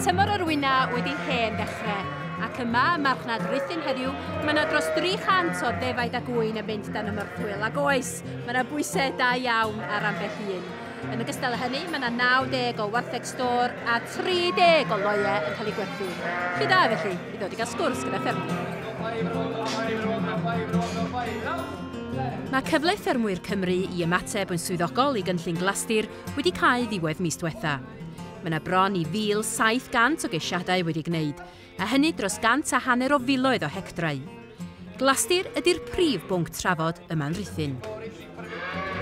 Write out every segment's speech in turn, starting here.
Mae tymor yr wyna wedi hen ddechrau, ac yma ym marchnad Rhuthun heddiw, mae yna dros 300 o ddefaid a gŵyn yn mynd dan y morthwyl, ac oes, mae yna bwysau da iawn ar ambell un. Yn ogystal â hynny, mae yna 90 o wartheg stôr a 30 o loiau yn cael eu gwerthu. Lle da felly i ddod i gael sgwrs gyda ffermwyr. Mae cyfle ffermwyr Cymru i ymateb yn swyddogol i gynllun Glastir wedi cau ddiwedd mis diwetha. Mae yna bron i 1,700 o geisiadau wedi gwneud, a hynny dros 150 o filoedd o hectrau. Glastir ydy'r prif bwnc trafod yma'n Rhuthun.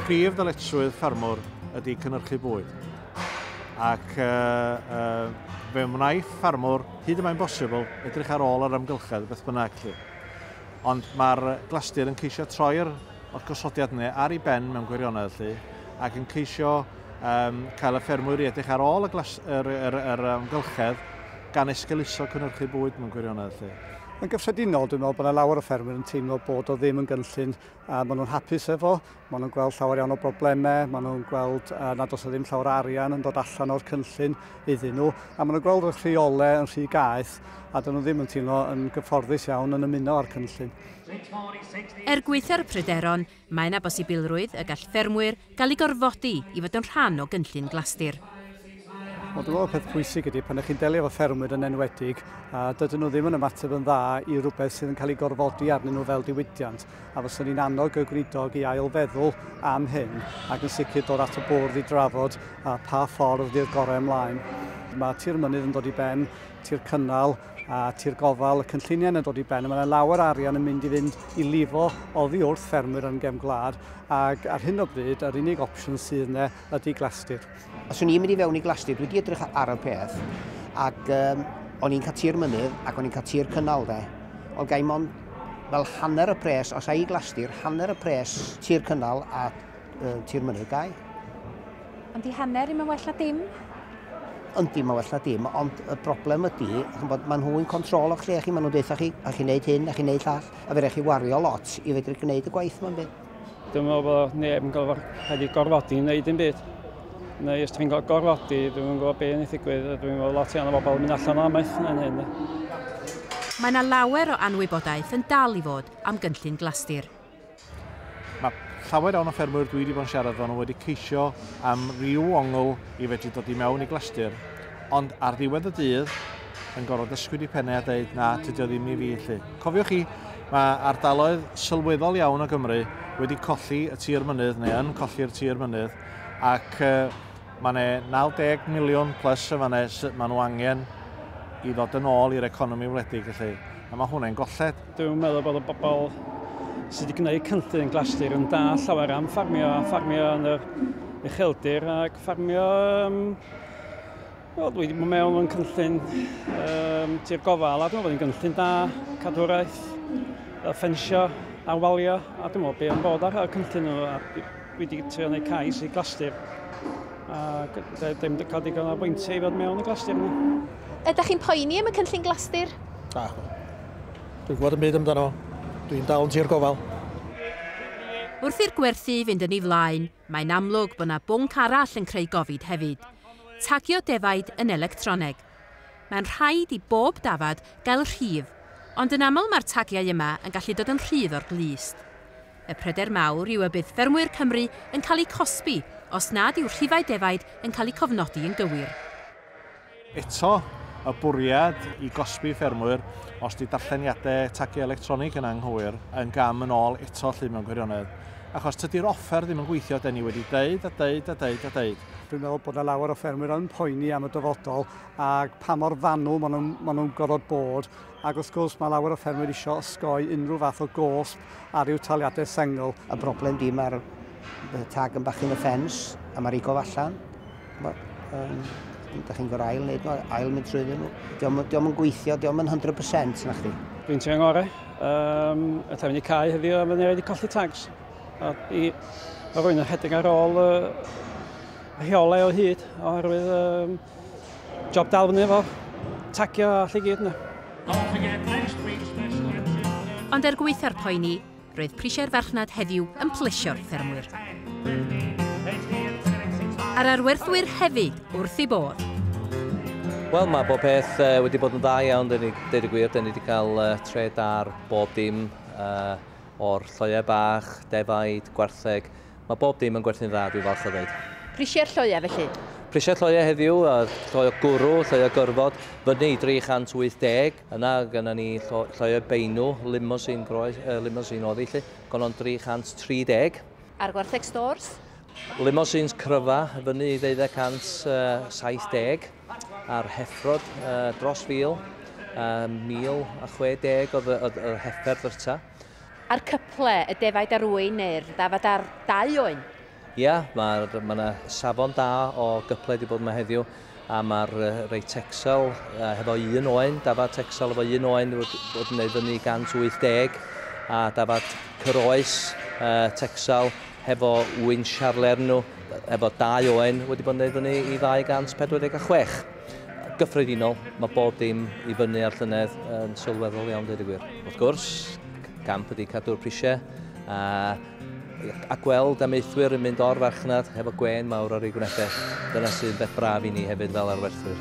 Prif ddyletswydd ffermwr ydy cynhyrchu bwyd. Ac fe wnaiff ffermwr, hyd y mae'n bosibl, edrych ar ôl yr amgylchedd, beth bynnag. Lly. Ond mae'r Glastir yn ceisio troi'r gosodiad yna ar ei ben mewn gwirionedd, lly, ac yn ceisio cael y ffermwyr i edrych ar ôl yr amgylchedd gan esgeuluso cynhyrchu bwyd mewn gwirionedd. Lly. Yn gyffredinol, dwi'n meddwl bod yna lawer o ffermwyr yn teimlo bod o ddim yn gynllun a maen nhw'n hapus efo, maen nhw'n gweld llawer iawn o broblemau, maen nhw'n gweld nad oes ddim llawer o arian yn dod allan o'r cynllun iddyn nhw, a maen nhw'n gweld y rheolau yn rhy gaeth a dyn nhw ddim yn teimlo yn gyfforddus iawn yn ymuno â'r cynllun. Er gwaetha'r pryderon, mae yna bosibilrwydd y gall ffermwyr gael eu gorfodi i fod yn rhan o gynllun Glastir. Wel, dwi'n meddwl peth pwysig ydy pan ydych chi'n delio efo ffermwyr yn enwedig, a dydyn nhw ddim yn ymateb yn dda i rhywbeth sydd yn cael ei gorfodi arnyn nhw fel diwydiant. A fyswn ni'n annog y gweinidog i ailfeddwl am hyn ac yn sicr dod at y bwrdd i drafod a pa ffordd ydy'r gorau ymlaen. Mae tir mynydd yn dod i ben, tir cynnal a tir gofal, y cynlluniau yn dod i ben, a mae yna lawer arian yn mynd i fynd i lifo oddi wrth ffermwyr yn gefn gwlad, ac ar hyn o bryd, yr unig opsiwn sydd yna ydy Glastir. Os o'n i'n mynd i fewn i Glastir, dwi wedi edrych ar y peth, ac o'n i'n cael tir mynydd ac o'n i'n cael tir cynnal de. Ond gai mond fel hanner y pres, os ai i Glastir, hanner y pres tir cynnal a tir mynydd gai. Ond di hanner ddim yn well na dim? Yndi, mae'n well na dim, ond y broblem ydy, ch'mbod, maen nhw'n control o'ch lle chi, maen nhw'n deutha chi, a chi'n neud hyn, a chi'n neud llall, a fe raid chi wario lot i fedru gwneud y gwaith ma'n byd. Dwi'n meddwl bod neb yn cael ei gorfodi i wneud dim byd. Neu os ti'n cael gorfodi, dwi'n gwybod beth yn ei ddigwydd, a dwi'n meddwl lot iawn o bobl yn mynd allan o amaeth yn hyn. Mae yna lawer o anwybodaeth yn dal i fod am gynllun Glastir. Mae llawer iawn o ffermwyr dwi wedi bod yn siarad efo nhw wedi ceisio am ryw ongl i fedru dod i mewn i Glastir, ond ar ddiwedd y dydd yn gorfod ysgwyd i pennau a dweud na, tydi o ddim i fi lly. Cofiwch chi, mae ardaloedd sylweddol iawn o Gymru wedi colli y tir mynydd neu yn colli'r tir mynydd, ac mae yna 90 miliwn plus yn fan'na maen nhw angen i ddod yn ôl i'r economi wledig felly. A mae hwnna'n golled. Dwi'n meddwl bod y bobl sydd wedi gwneud cynllun Glastir yn da llawer am ffarmio, a ffarmio yn yr ucheldir ac ffarmio... Wel, dwi wedi bod mewn yn cynllun tir gofal, a dwi'n meddwl bod hi'n gynllun da, cadwraeth, ffensio a walio, a dwi'n meddwl be yn bod ar y cynllun nhw, a dwi wedi trio gwneud cais i Glastir, a ddim wedi cael digon o bwyntiau i fod mewn y Glastir yna. Ydych chi'n poeni am y cynllun Glastir? Na, dwi'n gwybod yn byd amdano fo. Dwi'n dal yn tir gofal. Wrth i'r gwerthu fynd yn ei flaen, mae'n amlwg bod yna bwnc arall yn creu gofid hefyd. Tagio defaid yn electroneg. Mae'n rhaid i bob dafad gael rhif, ond yn aml mae'r tagiau yma yn gallu dod yn rhydd o'r glust. Y pryder mawr yw y bydd ffermwyr Cymru yn cael eu cosbi os nad yw rhifau defaid yn cael eu cofnodi yn gywir. Eto, y bwriad i gosbi ffermwyr, os di darlleniadau tagiau electronig yn anghywir, yn gam yn ôl eto lly mewn gwirionedd. Achos tydi'r offer ddim yn gweithio, den ni wedi deud a deud a deud a deud. Dwi'n meddwl bod yna lawer o ffermwyr yn poeni am y dyfodol ac pa mor fanwl maen nhw'n gorfod bod. Ac wrth gwrs mae lawer o ffermwyr isio osgoi unrhyw fath o gosb ar i'w taliadau sengl. Y broblem di mae'r tag yn bach yn y ffens a mae'r igof allan. Da chi'n gorau ail wneud nhw, ail mynd trwyddyn nhw. Dio'm yn gweithio, dio'm yn 100% na chdi. Dwi'n teimlo'n ngorau. Y ta mynd i cae heddiw a fydd wedi colli tags. A i mae rhywun yn rhedeg ar ôl rheolau o hyd, oherwydd job dal fyny efo tagio a lle gyd yna. Ond er gwaetha'r poeni, roedd prisiau'r farchnad heddiw yn plesio'r ffermwyr. A'r arwerthwyr hefyd wrth eu bodd. Wel, mae bob peth wedi bod yn dda iawn, deud y gwir. Dyn ni wedi cael trade ar bob dim o'r lloiau bach, defaid, gwartheg. Mae bob dim yn gwerthu'n dda, dwi'n falch o ddeud. Prisiau'r lloiau felly? Prisiau'r lloiau heddiw, lloi o gwrw, lloi o gyrfod, fyny i 380. Yna gynna ni lloiau beinw, limousine, groes, limousine oedd hi, lle, gonon 330. A'r gwartheg stores? Limousines cryfa, fyny i 270. A'r heffrod dros 1,000, 1,060 oedd yr heffer ddyrta. A'r cyple, y defaid ar ŵyn neu'r ddafad ar 2 oen? Ia, mae yna safon da o gyple wedi bod yma heddiw, a mae'r rei Texel hefo un oen, dafad Texel efo un oen wedi bod yn neud fyny 180, a dafad Cyroes Texel hefo wyn Charler nhw, efo 2 oen wedi bod yn neud fyny i 246. Gyffredinol, mae bob dim i fyny ar llynedd yn sylweddol iawn, dweud y gwir. Wrth gwrs, gamp ydy cadw'r prisiau a gweld amaethwyr yn mynd o'r farchnad hefo gwên mawr ar eu gwynebau. Dyna sy'n beth braf i ni hefyd fel arwerthwyr.